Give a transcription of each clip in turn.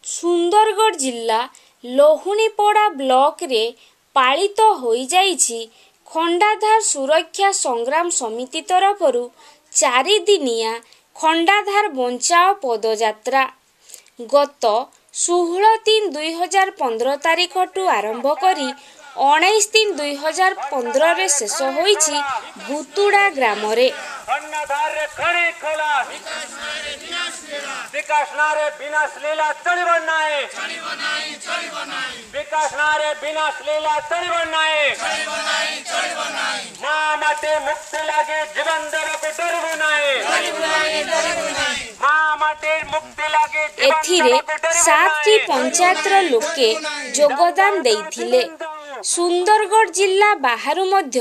ସୁନ୍ଦରଗଡ଼ ଜିଲ୍ଲା ଲହୁଣୀପଡ଼ା ବ୍ଲକରେ ପାଳିତ ହୋଇଯାଇଛି ଖଣ୍ଡାଧାର ସୁରକ୍ଷା ସଂଗ୍ରାମ ସମିତି ତରଫରୁ 4 ଦିନିଆ ଖଣ୍ଡାଧାର ବଞ୍ଚାଅ ପଦଯାତ୍ରା। ଗତ 16/3/2015 ତାରିଖଠୁ ଆରମ୍ଭ କରି 19/3/2015ରେ ଶେଷ ହୋଇଛି ଭୁତୁଡ଼ା ଗ୍ରାମରେ। ଖଣ୍ଡାଧାରରେ ଖଣି ଖୋଳା, ବିକାଶ ନାଁରେ ବିନାଶ ଲୀଳା ଚଳିବ ନାହିଁ। ବିକାଶ ନାଁରେ ବିନାଶ ଲୀଳା ଚଳିବ ନାହିଁ। ମା ମାଟି ମୁକ୍ତି ଲାଗି ଜୀବନ ଦେବାକୁ ଡରିବୁ ନାହିଁ। ମା ମାଟି ମୁକ୍ତି ଲାଗି ଜୀବନ ଏଥିରେ ଦେବାକୁ ଡରିବୁ 7ଟି ନାହିଁ। ପଞ୍ଚାୟତର ଲୋକେ ଯୋଗଦାନ ଦେଇଥିଲେ। ସୁନ୍ଦରଗଡ଼ ଜିଲ୍ଲା ବାହାରୁ ମଧ୍ୟ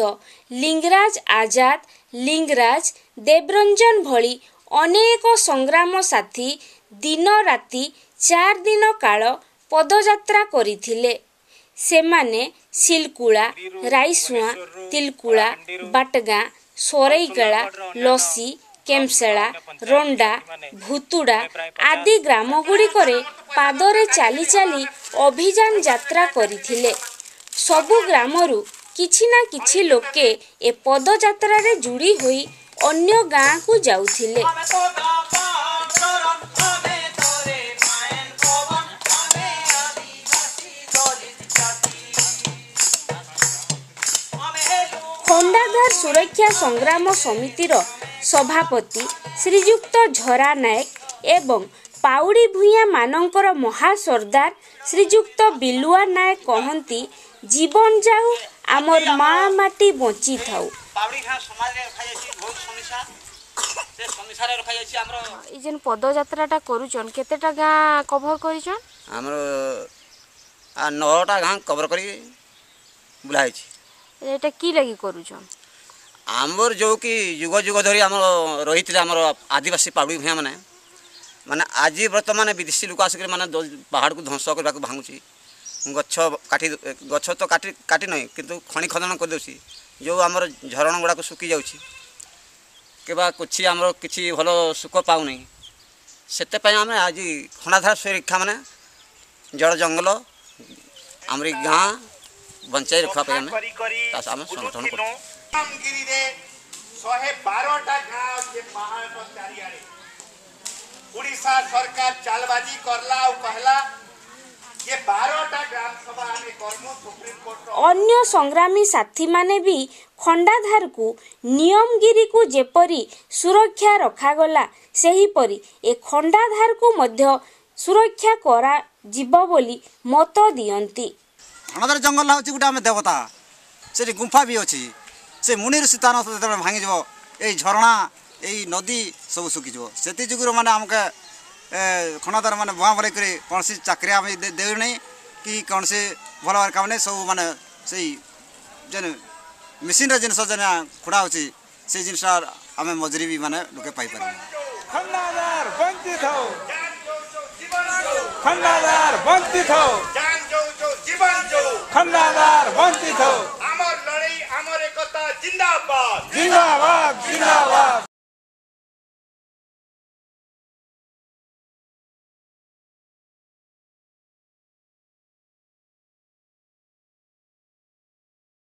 ଲିଙ୍ଗରାଜ ଆଜାଦ, ଲିଙ୍ଗରାଜ ଦେବରଞ୍ଜନ ଭଳି ଅନେକ ସଂଗ୍ରାମ ସାଥୀ ଦିନ ରାତି 4 ଦିନ କାଳ ପଦଯାତ୍ରା କରିଥିଲେ। ସେମାନେ ସିଲକୁଳା, ରାଇସୁଆଁ, ତିଲକୁଳା, ବାଟଗାଁ, ସରେଇକେଳା, ଲସି, କେମସେଳା, ରଣ୍ଡା, ଭୁତୁଡ଼ା ଆଦି ଗ୍ରାମଗୁଡ଼ିକରେ ପାଦରେ ଚାଲି ଚାଲି ଅଭିଯାନ ଯାତ୍ରା କରିଥିଲେ। ସବୁ ଗ୍ରାମରୁ କିଛି ନା କିଛି ଲୋକେ ଏ ପଦଯାତ୍ରାରେ ଯୋଡ଼ି ହୋଇ ଅନ୍ୟ ଗାଁକୁ ଯାଉଥିଲେ। ଆମେ ତ ଚରଣ, ଆମେ ତୋରେ ପାଏନ ପବନ, ଆମେ ଆଦିବାସୀ ଦଳିତ ଜାତି, ଆମେ ହେଲୁ ଖଣ୍ଡାଧାର ସୁରକ୍ଷା ସଂଗ୍ରାମ ସମିତିର ସଭାପତି ଶ୍ରୀଯୁକ୍ତ ଝରା ନାୟକ ଏବଂ ପାଉଡ଼ି ଭୂୟାଁମାନଙ୍କର ମହାସର୍ଦ୍ଦାର ଶ୍ରୀଯୁକ୍ତ ବିଲୁଆ ନାୟକ କହନ୍ତି, ଜୀବନ ଯାଉ, ଆମର ମା ମାଟି ବଞ୍ଚିଥାଉ। ପାଉଡ଼ି ଗାଁ ସମାଜରେ ରଖାଯାଇଛି ବହୁତ ସମସ୍ୟା। ସେ ସମସ୍ୟାରେ ରଖାଯାଇଛି ଆମର। ଏଇ ଯେନ୍ ପଦଯାତ୍ରାଟା କରୁଛନ୍, କେତେଟା ଗାଁ କଭର କରିଛନ୍? ଆମର 9ଟା ଗାଁ କଭର କରି ବୁଲା ହେଇଛି। ଏଇଟା କି ଲାଗି କରୁଛନ୍? ଆମର ଯେଉଁ କି ଯୁଗ ଯୁଗ ଧରି ଆମର ରହିଥିଲେ ଆମର ଆଦିବାସୀ ପାଉଡ଼ି ଭୂୟାଁ ମାନେ, ମାନେ ଆଜି ବର୍ତ୍ତମାନ ବିଦେଶୀ ଲୋକ ଆସିକରି ମାନେ ପାହାଡ଼କୁ ଧ୍ୱଂସ କରିବାକୁ ଭାଙ୍ଗୁଛି, ଗଛ କାଟି, ଗଛ ତ କାଟି କାଟି ନାହିଁ, କିନ୍ତୁ ଖଣି ଖନନ କରିଦେଉଛି। ଯେଉଁ ଆମର ଝରଣ ଗୁଡ଼ାକ ଶୁଖି ଯାଉଛି କିମ୍ବା କିଛି ଆମର କିଛି ଭଲ ସୁଖ ପାଉନାହିଁ। ସେଥିପାଇଁ ଆମେ ଆଜି ଖଣ୍ଡାଧାର ସୁରକ୍ଷା, ମାନେ ଜଳ ଜଙ୍ଗଲ ଆମରି ଗାଁ ବଞ୍ଚାଇ ରଖିବା ପାଇଁ ଆମେ ତା ଆମେ ସଂଗଠନ କରୁଛୁ। ଗିରିରେ 112ଟା ଗାଁ ଅଛି ପାହାଡ଼ ଚାରିଆଡ଼େ। ଓଡ଼ିଶା ସରକାର ଚାଲବାଜି କରଲା ଆଉ କହିଲା ଯେ 12ଟା ଗ୍ରାମ ସଭା ଆମେ କରମୁ ସୁପ୍ରିମକୋର୍ଟ। ଅନ୍ୟ ସଂଗ୍ରାମୀ ସାଥୀମାନେ ବି ଖଣ୍ଡାଧାରକୁ, ନିୟମଗିରିକୁ ଯେପରି ସୁରକ୍ଷା ରଖାଗଲା, ସେହିପରି ଏ ଖଣ୍ଡାଧାରକୁ ମଧ୍ୟ ସୁରକ୍ଷା କରାଯିବ ବୋଲି ମତ ଦିଅନ୍ତି। ଖଣ୍ଡାଧାର ଜଙ୍ଗଲ ହେଉଛି ଗୋଟେ ଆମେ ଦେବତା। ସେଠି ଗୁମ୍ଫା ବି ଅଛି। ସେ ମୁନି ଋଷି ସ୍ଥାନ ଯେତେବେଳେ ଭାଙ୍ଗିଯିବ, ଏଇ ଝରଣା, ଏଇ ନଦୀ ସବୁ ଶୁଖିଯିବ। ସେଥି ଯୋଗୁଁ ମାନେ ଆମକୁ ଖଣ୍ଡାଧାର ମାନେ ଭୁଆଁ ଭଲେଇ କରି କୌଣସି ଚାକିରି ଆମେ ଦେଉନାହିଁ କି କୌଣସି ଭଲ ଭାବରେ କାମ ନାହିଁ। ସବୁ ମାନେ ସେଇ ଯେନ୍ ମେସିନ୍ର ଜିନିଷ ଯେନ୍ ଖୋଡ଼ା ହେଉଛି, ସେଇ ଜିନିଷ ଆମେ ମଜୁରୀ ବି ମାନେ ଲୋକେ ପାଇପାରିବୁ। ଖଣ୍ଡାଧାର ବଞ୍ଚିଥାଉ, ଖଣ୍ଡାଧାର ବଞ୍ଚିଥାଉ, ଜାନ ଯୋଉ ଯୋଉ ଜୀବନ ଯୋଉ, ଖଣ୍ଡାଧାର ବଞ୍ଚିଥାଉ। ଆମର ଲଢ଼େଇ, ଆମର ଏକତା, ଜିନ୍ଦାବାଦ। ଜିନ୍ଦାବାଦ, ଜିନ୍ଦାବାଦ।